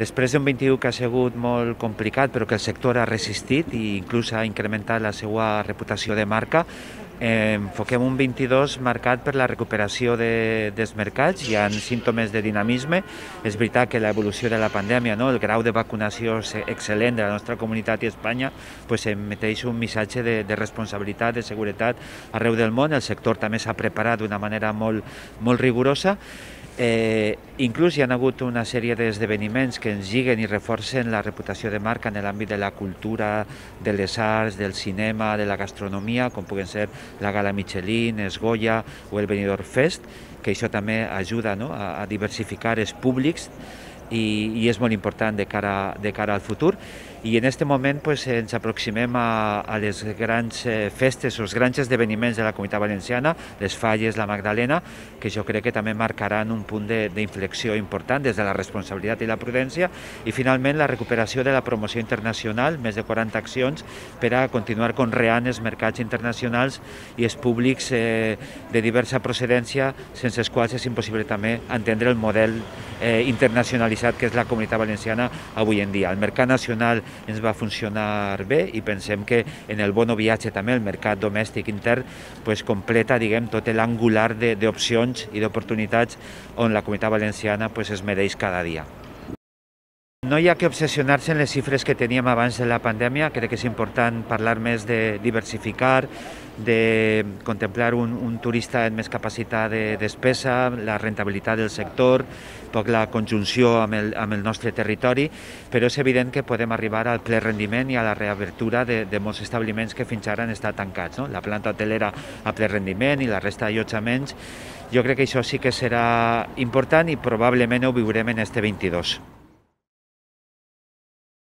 Després d'un 21 que ha sigut molt complicat, però que el sector ha resistit i inclús ha incrementat la seva reputació de marca, enfoquem un 22 marcat per la recuperació dels mercats. Hi ha símptomes de dinamisme. És veritat que l'evolució de la pandèmia, el grau de vacunació excel·lent de la nostra comunitat i Espanya, emeteix un missatge de responsabilitat, de seguretat arreu del món. El sector també s'ha preparat d'una manera molt rigorosa. Inclús hi ha hagut una sèrie d'esdeveniments que ens lliguen i reforcen la reputació de marca en l'àmbit de la cultura, de les arts, del cinema, de la gastronomia, com puguen ser la Gala Michelin, el Goya o el Benidorm Fest, que això també ajuda a diversificar els públics i és molt important de cara al futur. I en aquest moment ens aproximem a les grans festes o els grans esdeveniments de la Comunitat Valenciana, les Falles, la Magdalena, que jo crec que també marcaran un punt d'inflexió important des de la responsabilitat i la prudència, i finalment la recuperació de la promoció internacional, més de 40 accions per a continuar conreant els mercats internacionals i els públics de diversa procedència, sense els quals és impossible també entendre el model internacionalitzat que és la Comunitat Valenciana avui en dia. El mercat nacional ens va funcionar bé i pensem que en el bon viatge també el mercat domèstic intern completa, tot l'angular d'opcions i d'oportunitats on la Comunitat Valenciana es mereix cada dia. No hi ha que obsessionar-se en les xifres que teníem abans de la pandèmia. Crec que és important parlar més de diversificar, de contemplar un turista amb més capacitat de despesa, la rentabilitat del sector, la conjunció amb el nostre territori, però és evident que podem arribar al ple rendiment i a la reobertura de molts establiments que fins ara han estat tancats. La planta hotelera a ple rendiment i la resta d'allotjaments. Jo crec que això sí que serà important i probablement ho viurem en este 22.